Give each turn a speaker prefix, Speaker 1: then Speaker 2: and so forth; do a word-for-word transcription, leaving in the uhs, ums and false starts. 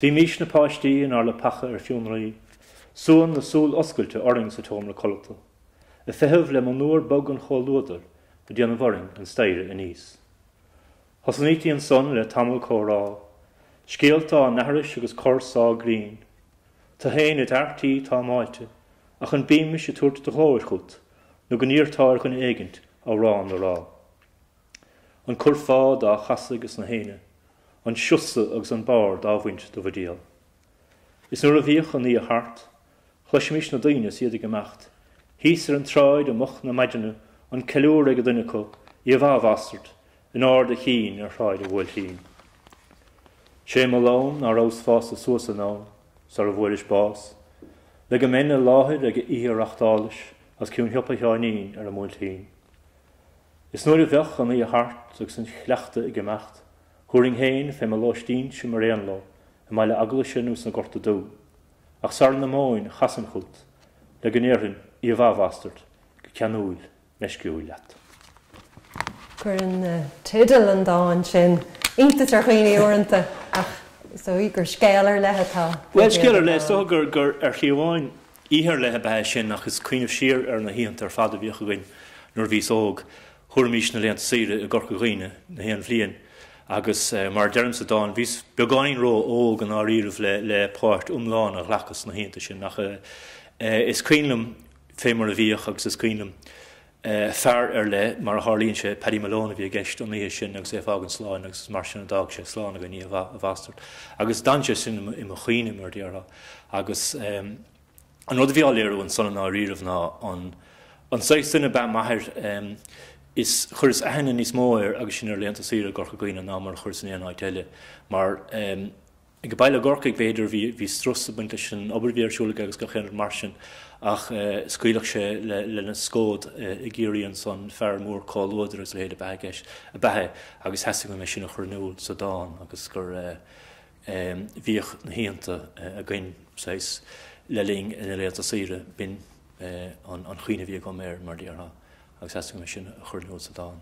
Speaker 1: Bhímís na páistí inár leapacha ar fionraí, suan na súl oscailte orainn sa tseomra codlata, ag feitheamh le monuar bog an chomhluadair ag déanamh orainn an staighre aníos. Thosnaítí ansan le tamall comhrá, scéalta á n-aithris agus corr-sá grinn. Tu féin i d'fhear tí támáilte, ach an mbímis ag tabhairt do ghlóir chút, nó go n-iarrtá ar dhuine éigint amhrán a rá. An curfá dá chasadh ages na héinne, an siosa agus an barr dá bhaint de bhuidéal. Is nuair a bhíodh an oíche thart, chloisimis na daoine is iad ag imeacht, thíos ar an tsráid i moch na maidine, an ceiliúradh ag duine acu, oíche mhaith a bhastard, in ard a chinn ar Shráid an Bhuailtín. Sé mo lón ná rabhas fásta suas in am, sara bhfuairis bás, le go mbeinn i láthair ag oíche a reachtáilis as cionn shiopa Sheáinín ar an mBuailtín. Is nuair a bheadh an oíche thart agus an cleachtadh ag imeacht, Thabharfainn féin fé mo lóistínse mar aon leo i mBaile Eaglaise nó sna Gorta Dubha, ach sara n-imeoinn chasfainn chút le go ndéarfainn oíche mhaith a bhastard go ceanúil meisciúil leat.
Speaker 2: Cuireann teideal an dáin sin iontas ar dhaoine uaireanta ach is dóigh gur scéal ar leith atá.
Speaker 1: Bhuel, scéal ar leith, is dócha gur gur ar shlí amháin oíche ar leith ab ea é sin ach is cuimhneamh siar ar na hoícheanta ar fad a bhíodh againn nuair a bhíos óg. Thabharfaimis na laethanta saoire i gCorca Dhuibhne na haon bhliain agus mar a deirim sa dán, bhíos beagáinín ró-óg i ndáiríribh le le páirt iomlán a ghlacadh sna hoícheanta sin ach is cuimhin liom fé mar a bhíodh agus is cuimhin liom fear ar leith, mar a tharlaíonn sé, Paddy Malone a bhí i gceist an oíche sin agus é ag fágaint sláin agus is mar sin a d'fhág sé slán againn, oíche mhaith a bhastard. Agus d'fhan sé sin i mo chuimhne mar a déarfá agus An rud a bhí á léiriú ansan i ndáiríribh ná an an saghas duine ab ea m'athair. Is chuireas aithne níos mó air agus sinn ar laethanta saoire i gCorca Dhuibhne ná mar a chuireas in aon áit eile mar ag baile i gCorcaigh b'fhéidir bhí bhí strus ag baint leis an obair a bhí ar siúl aige agus gach aon rud mar sin ach scaoilfeadh sé le lena scód i gCiarraí ansan, fear mór comhluadair agus a leithéid ab ea i gceist ab ea é agus theastaigh uaim é sin a chur in iúl sa dán agus gur bhíodh na hoícheanta againn saghas le linn na laethanta saoire, b'in an chuimhne a bhí agam air, mar a déarfá, agus theastaigh uaim é sin a chur in iúl sa dán.